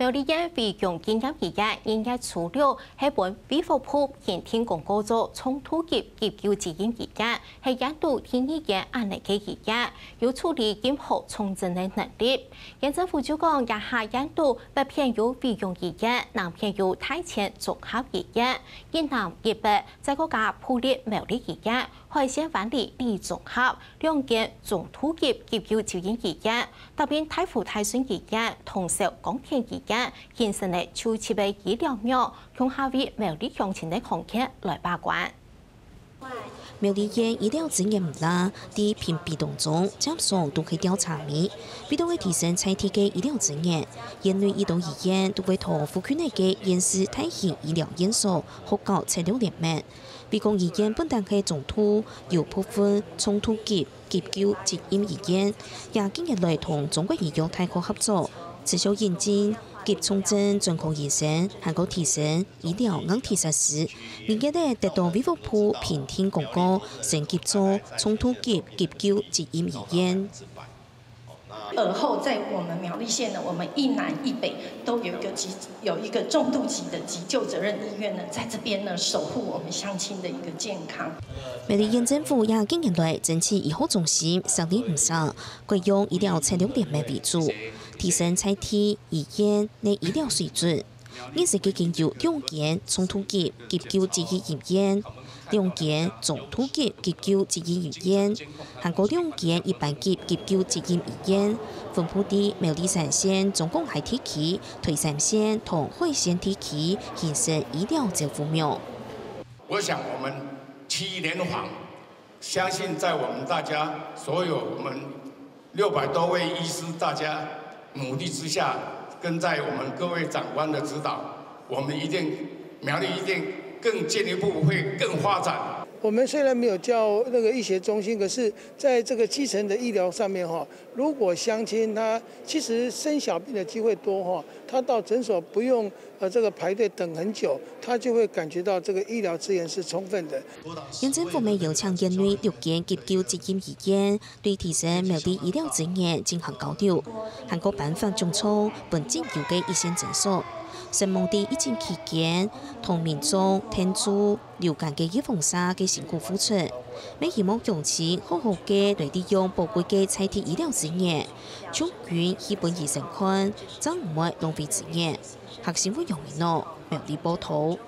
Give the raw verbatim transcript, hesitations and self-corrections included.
苗栗縣惠陽紀念醫院二月初六係分衛福部評定通過做重度級急救責任醫院，係縣肚第二間恁樣个醫院，有處理任何重症个能力。縣政府就講，這下縣肚北片有惠陽醫院，南片有大千綜合醫院，以南以北再過加埔里苗栗醫院、海線灣裡李綜合兩間中度級急救救援醫院，搭配大湖大順醫院、通霄光田醫院，形成了就近个醫療網，共下為苗栗鄉親个康健來把關。苗栗縣醫療資源毋罅，在評比當中，佔上都係吊車尾。為到愛提升在地个醫療資源，縣內已多醫院都會同附近个縣市大型醫療院所合作策略聯盟。 惠陽醫院本旦係中度，有部分重度級急救責任醫院，也近年來同中國醫藥大學合作，持續引進急重症專科醫生，還過提升醫療硬體設施。二月仔得到衛福部評定通過，升級做重度級急救責任醫院。 而后在我们苗栗县呢，我们一南一北都有一个急有一个重度级的急救责任医院呢，在这边呢守护我们乡亲的一个健康。苗栗县政府也近年來爭取醫學中心設立毋少，改用醫療策略聯盟為主，提升在地醫院个醫療水準。 現時已經有兩間重度級急救職業醫院、兩間中度級急救職業醫院，還過兩間一般級急救職業醫院，分布在苗栗三線、中港溪地區、台三線同海線地區，形成醫療照護網。我想我们七联防，相信在我们大家所有我们六百多位医师大家努力之下，跟在我们各位长官的指导，我们一定苗栗一定更进一步会更发展。我们虽然没有叫那个医学中心，可是在这个基层的医疗上面哈，如果乡亲他其实生小病的机会多哈，他到诊所不用呃这个排队等很久，他就会感觉到这个医疗资源是充分的。县政府也邀請县內六間急救職業醫院， 對提升苗栗醫療資源進行交流，還過頒發獎狀分進修个醫生診所，承蒙在疫情期間同民眾𢯭手留間个預防射个辛苦付出，也希望鄉親好好个來利用寶貴个在地醫療資源，充分去分醫生看，正毋會浪費資源。客新聞楊明諾，苗栗報導。